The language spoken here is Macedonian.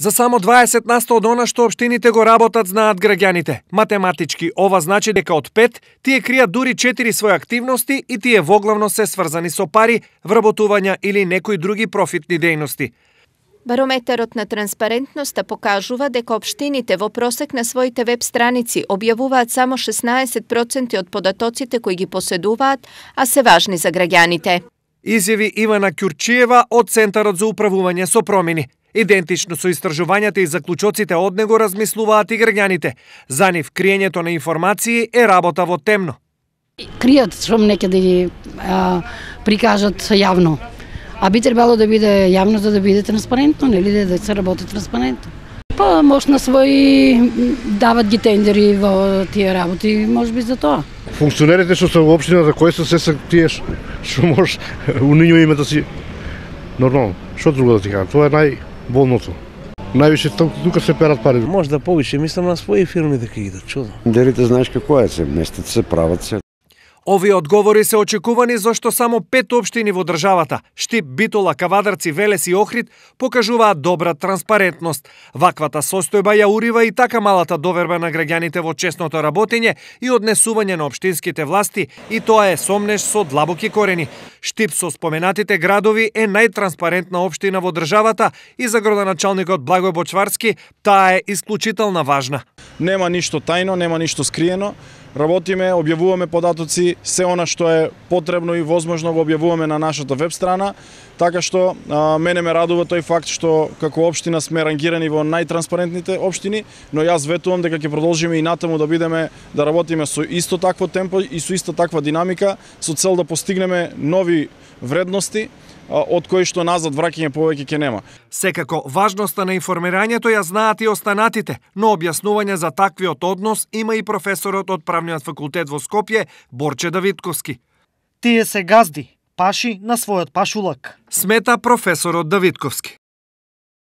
За само 20% од она што општините го работат знаат граѓаните. Математички ова значи дека од 5 тие кријат дури 4 своји активности и тие воглавно се сврзани со пари, вработувања или некои други профитни дејности. Барометерот на транспарентноста покажува дека општините во просек на своите веб страници објавуваат само 16% од податоците кои ги поседуваат, а се важни за граѓаните. Изјави Ивана Ќурчиева од Центарот за управување со промени. Идентично со истражувањата и заклучоците од него размислуваат и граѓаните. За нив криењето на информации е работа во темно. Кријат што некаде да ги прикажат јавно. А би требало да биде јавно за да биде транспарентно, нели да се работи транспарентно. Па може на своји дават ги тендери во тие работи, можеби за тоа. Функционерите што се во општината, кои се тие што може у нивно име да си нормално. Што друго да ти кажам, тоа е најболното. Највише тука се перат пари. Може да повише, мислам на своји фирми дека идат, чудо. Тендерите знаеш како е, се местат се, прават се. Овие одговори се очекувани зашто само 5 општини во државата, Штип, Битола, Кавадарци, Велес и Охрид, покажуваат добра транспарентност. Ваквата состојба ја урива и така малата доверба на граѓаните во честното работење и однесување на општинските власти, и тоа е сомнеш со длабоки корени. Штип со споменатите градови е најтранспарентна општина во државата и за градоначалникот Благој Бочварски таа е исклучително важна. Нема ништо тајно, нема ништо скриено. Работиме, објавуваме податоци, се она што е потребно и возможно го објавуваме на нашата веб страна, така што мене ме радува тој факт што како општина сме рангирани во најтранспарентните општини, но јас ветувам дека ќе продолжиме и натаму да бидеме, да работиме со исто такво темпо и со исто таква динамика, со цел да постигнеме нови вредности, од кои што назад враќање повеќе ќе нема. Секако, важноста на информирањето ја знаат и останатите, но објаснување за таквиот однос има и професорот од Правниот факултет во Скопје, Борче Давидковски. Тие се газди, паши на својот пашулак. Смета професорот Давидковски.